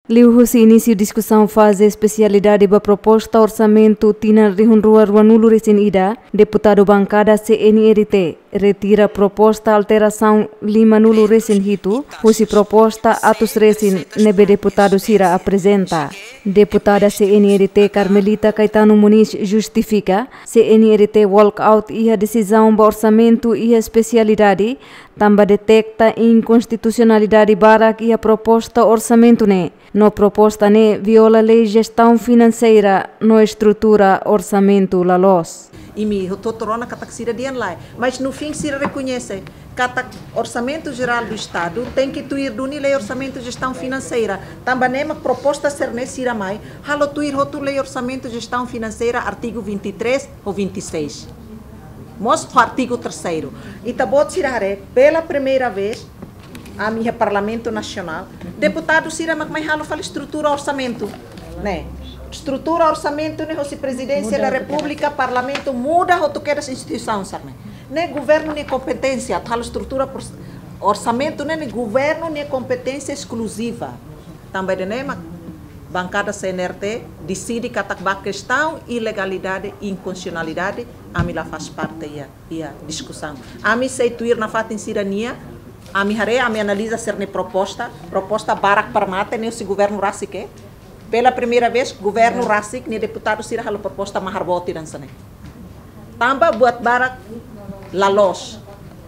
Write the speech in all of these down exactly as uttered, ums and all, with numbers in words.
Liuhusi inísiu diskusaun faze espesialidade ba proposta orsamentu tinan rihun rua ruanulu resin ida, deputadu bankada C N R T retira proposta alterasaun limanulu resin hitu husi proposta atus resin ne'ebé deputadu sira aprezenta. Deputada C N R T Carmelita Caetano Moniz justifika C N R T walkout iha desizaun ba orsamentu iha espesialidade, tanba deteta inkonstitusionalidade barak iha proposta orsamentu ne'e. No proposta ne'e viola lei jestaun finanseira no estrutura orsamentu la loos. Imi hotu-hotu rona katak sira dehan lae. Mas no fim sira rekoñese katak Orsamentu Jerál do Estadu tenke tuir duni Lei Orsamentu Jestaun Finanseira. Tanba ne'e mak proposta sira-ne'e sira mai halo tuir hotu Lei Orsamentu Jestaun Finanseira, artigu vinte e três ou vinte e seis. Mós ho artigu terceiro. Ita-boot sira haree, pela primeira vez, ami iha Parlamentu Nasionál, deputadu sira mak mai halo fali estrutura orsamentu, ne'e. Estrutura orsamentu ne'e hosi Prezidénsia da Repúblika, Parlamentu muda hotu kedas instituisaun sira-ne'e. Ne'e governu nia kompeténsia, halo estrutura pros-, orsamentu ne'e, ne'e governu nia kompeténsia eskluziva. Tanba ida-ne'e mak bankada C N R T deside katak ba kestaun ilegalidade, inkonstitusionalidade, ami la faz parte iha, iha diskusaun. Ami sei tuir nafatin sira-nia, ami haree, ami analiza sira-nia proposta, proposta barak para mate, ne'e husi governu rasik, eh. Pela primeira vez, governu rasik nia deputadu sira halo proposta mahar boot ida hanesan ne'e. Tanba buat barak la loos.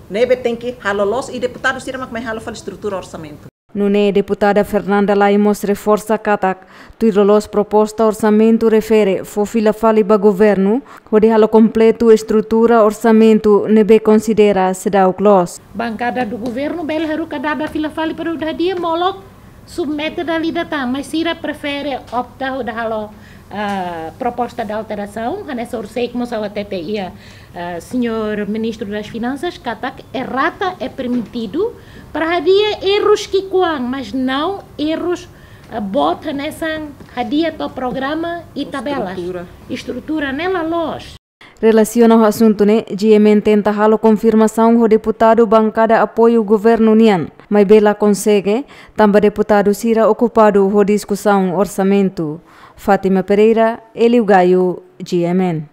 Ne'ebé tenke halo loos i deputadu sira mak mai halo fali estrutura orsamentu. Nune'e deputada Fernanda Lay mós reforsa katak, tuir loloos proposta orsamentu refere fó fila fali ba governu, hodi halo kompletu estrutura orsamentu ne'ebé konsidera seidauk loos. Bankada do governu bele haruka dada fila fali para hodi hadi'a molok submete dala ida tan, mas sira prefere opta hodi halo, ah, proposta de alterasaun, hanesan orsida mós ha'u hatete iha, ah, señór Ministru das Finansas, katak errata é permitidu para hadi'a errus ki'ikoan, mas não errus, ah, boot hanesan hadi'a to'o programa i tabelas. Estrutura. Estrutura ne'e la loos. Relasiona ho asuntu ne'e, G M N tenta halo konfirmasaun ho deputadu bankada apoiu governu nian, maibé la konsege, tanba deputadu sira okupadu ho diskusaun orsamentu. Fátima Pereira, Hélio Gaio, G M N.